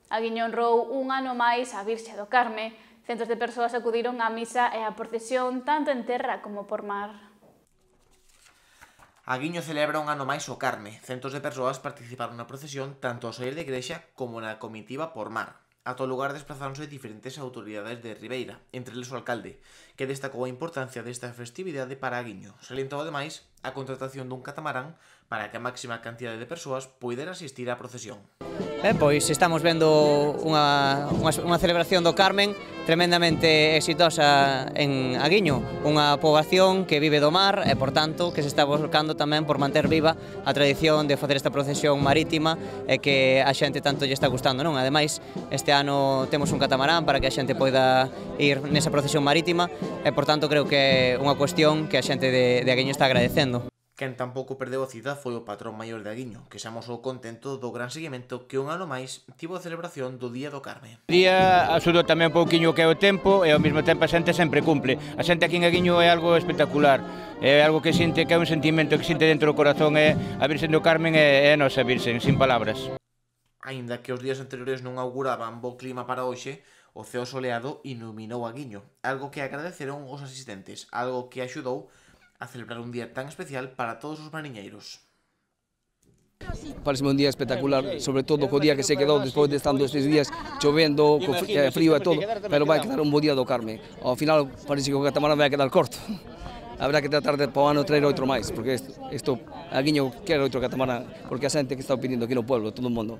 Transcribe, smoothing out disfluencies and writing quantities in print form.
Aguiño honrou un ano máis a Virxe do Carme. Centos de persoas acudiron á misa e á procesión tanto en terra como por mar. Aguiño celebra un ano máis o Carme. Centos de persoas participaron na procesión tanto ao saír da igrexa como na comitiva por mar. A todo lugar desplazáronse diferentes autoridades de Ribeira, entre eles o alcalde, que destacou a importancia desta festividade para Aguiño. Salientou ademais a contratación dun catamarán para que a máxima cantidade de persoas poidera asistir á procesión. Pois estamos vendo unha celebración do Carmen tremendamente exitosa en Aguiño, unha poboación que vive do mar e, por tanto, que se está volcando tamén por manter viva a tradición de facer esta procesión marítima e que a xente tanto lle está gustando, non? Ademais, este ano temos un catamarán para que a xente poida ir nesa procesión marítima e, por tanto, creo que é unha cuestión que a xente de Aguiño está agradecendo. Quen tampouco perdeu a cita foi o patrón maior de Aguiño, que se amosou contento do gran seguimento que un ano máis tivo a celebración do Día do Carme. O día axudou tamén un pouquiño que é o tempo e ao mesmo tempo a xente sempre cumple. A xente aquí en Aguiño é algo espectacular, é algo que xinte, que é un sentimento que xinte dentro do corazón, é a Virxen do Carmen é a nosa Virxen, sin palabras. Aínda que os días anteriores non auguraban bo clima para hoxe, o ceo soleado iluminou Aguiño, algo que agradeceron os asistentes, algo que axudou a celebrar un día tan especial para todos os mariñeiros. Parece un día espectacular, sobre todo co día que se quedou despois de estando estes días chovendo, co frío e todo, pero vai quedar un bo día do Carme. Ao final parece que o catamarán vai quedar corto. Habrá que tratar de para o ano traer outro máis, porque isto Aguiño quere outro catamarán, porque a xente que está pedindo aquí no pueblo, todo o mundo.